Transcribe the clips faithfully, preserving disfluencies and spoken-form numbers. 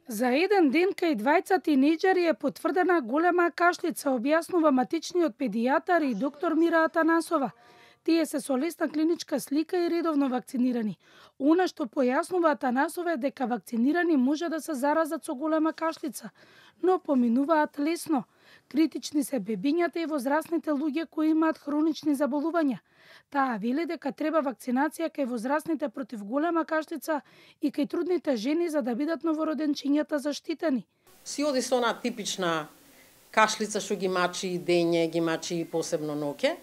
За еден ден кај двајца тинејџери е потврдена голема кашлица, објаснува матичниот педијатар и доктор Мира Атанасова. Тие се со лесна клиничка слика и редовно вакцинирани. Она што појаснува Атанасова е дека вакцинирани може да се заразат со голема кашлица, но поминуваат лесно. Критични се бебињата и возрастните луѓе кои имаат хронични заболувања. Таа вели дека треба вакцинација кај возрастните против голема кашлица и кај трудните жени за да бидат новороденчињата заштитени. Си оди со она типична кашлица што ги мачи и дење, ги мачи и посебно ноќе.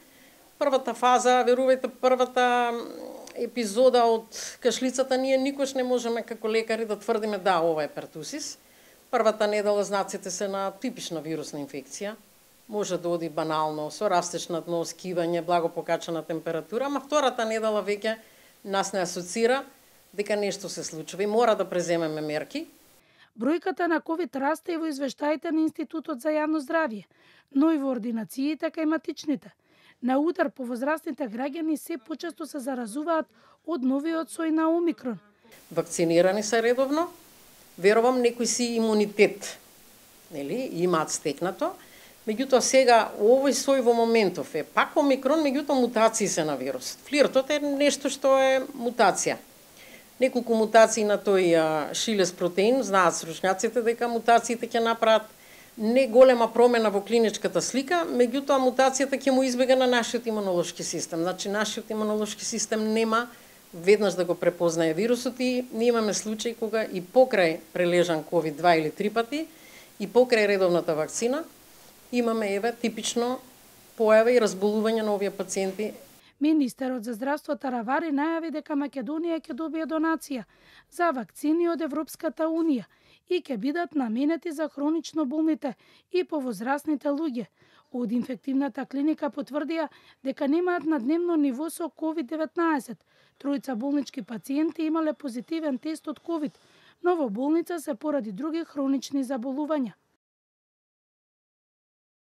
Првата фаза, верувајте, првата епизода од кашлицата ние никош не можеме како лекари да тврдиме да ова е пертусис. Првата недела знаците се на типична вирусна инфекција. Може да оди банално со растеж на дно, скивање, благо покачена температура, ама втората недела веќе нас не асоцира дека нешто се случува и мора да преземеме мерки. Бројката на ковид расте и во извештаите на Институтот за јавно здравје, но и во ординациите кај матичните. На удар по возрастните граѓани се почесто се заразуваат од новиот сој на Омикрон. Вакцинирани се редовно, верувам некои си имунитет, нели, имаат стекнато. Меѓутоа сега овој сој во моментов е пак Омикрон, меѓутоа мутации се на вирусот. Флиртот е нешто што е мутација. Неколку мутации на тој шилес протеин, знаат стручњаците дека мутациите ќе направат не голема промена во клиничката слика, меѓутоа мутацијата ќе му избега на нашиот имунолошки систем. Значи нашиот имунолошки систем нема веднаш да го препознае вирусот и ние имаме случаи кога и покрај прележан ковид два или три пати и покрај редовната вакцина имаме еве типично појава и разболување на овие пациенти. Министерот за здравство Таравари најави дека Македонија ќе добие донација за вакцини од Европската унија и ќе бидат наменети за хронично болните и повозрастните луѓе. Од инфективната клиника потврдија дека немаат на дневно ниво со ковид деветнаесет. Тројца болнички пациенти имале позитивен тест од ковид, но во болница се поради други хронични заболувања.